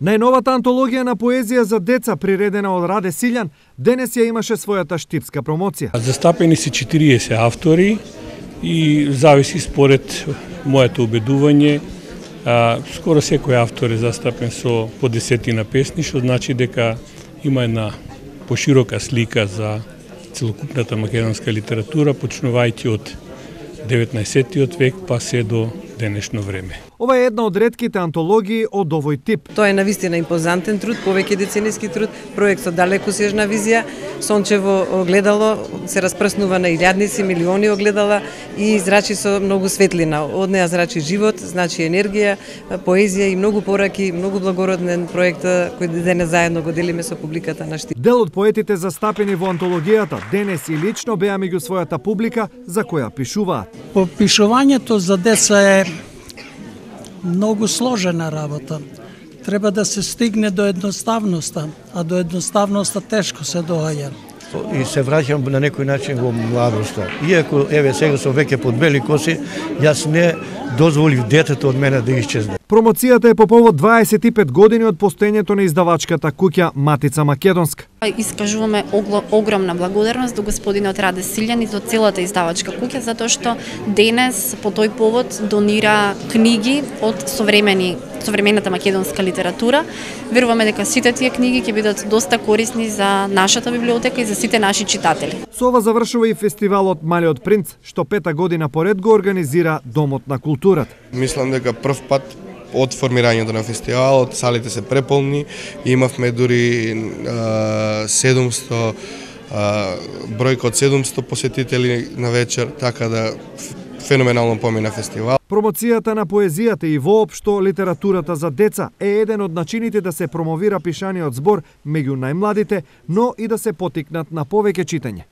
Најновата антологија на поезија за деца, приредена од Раде Силјан, денес ја имаше својата штипска промоција. Застапени се 40 автори и зависи според моето убедување. Скоро секој автор е застапен со по 10 песни, што значи дека има една поширока слика за целокупната македонска литература, почнувајќи од 19 век па се до денешно време. Ова е една од ретките антологии од овој тип. Тоа е навистина импозантен труд, повеќе децениски труд, проект со далекосежна визија, сончево огледало, се распрснува на илјадници, милиони огледала и зрачи со многу светлина. Од неа зрачи живот, значи енергија, поезија и многу пораки, многу благороден проект кој денес заедно го делиме со публиката на Штип. Дел од поетите застапени во антологијата денес и лично беа меѓу својата публика за која пишуваат. По пишувањето за деца е многу сложена работа. Треба да се стигне до едноставноста, а до едноставноста тешко се доаѓа. И се враќам на некој начин во младоста. Иако, еве, сега сум веќе под бели коси, јас не дозволив детето од мене да исчезне. Промоцијата е по повод 25 години од постоењето на издавачката куќа Матица Македонска. Искажуваме огромна благодарност до господинот Раде Силјан и до целата издавачка куќа, затоа што денес по тој повод донира книги од современата македонска литература. Веруваме дека сите тие книги ќе бидат доста корисни за нашата библиотека и за сите наши читатели. Со ова завршува и фестивалот Малиот принц, што 5-та година поред го организира Домот на културата. Мислам дека прв пат од формирањето на фестивалот салите се преполни, имавме дури 700 бројка од 700 посетители на вечер, така да феноменално помина фестивал. Промоцијата на поезијата и воопшто литературата за деца е еден од начините да се промовира пишаниот збор меѓу најмладите, но и да се поттикнат на повеќе читање.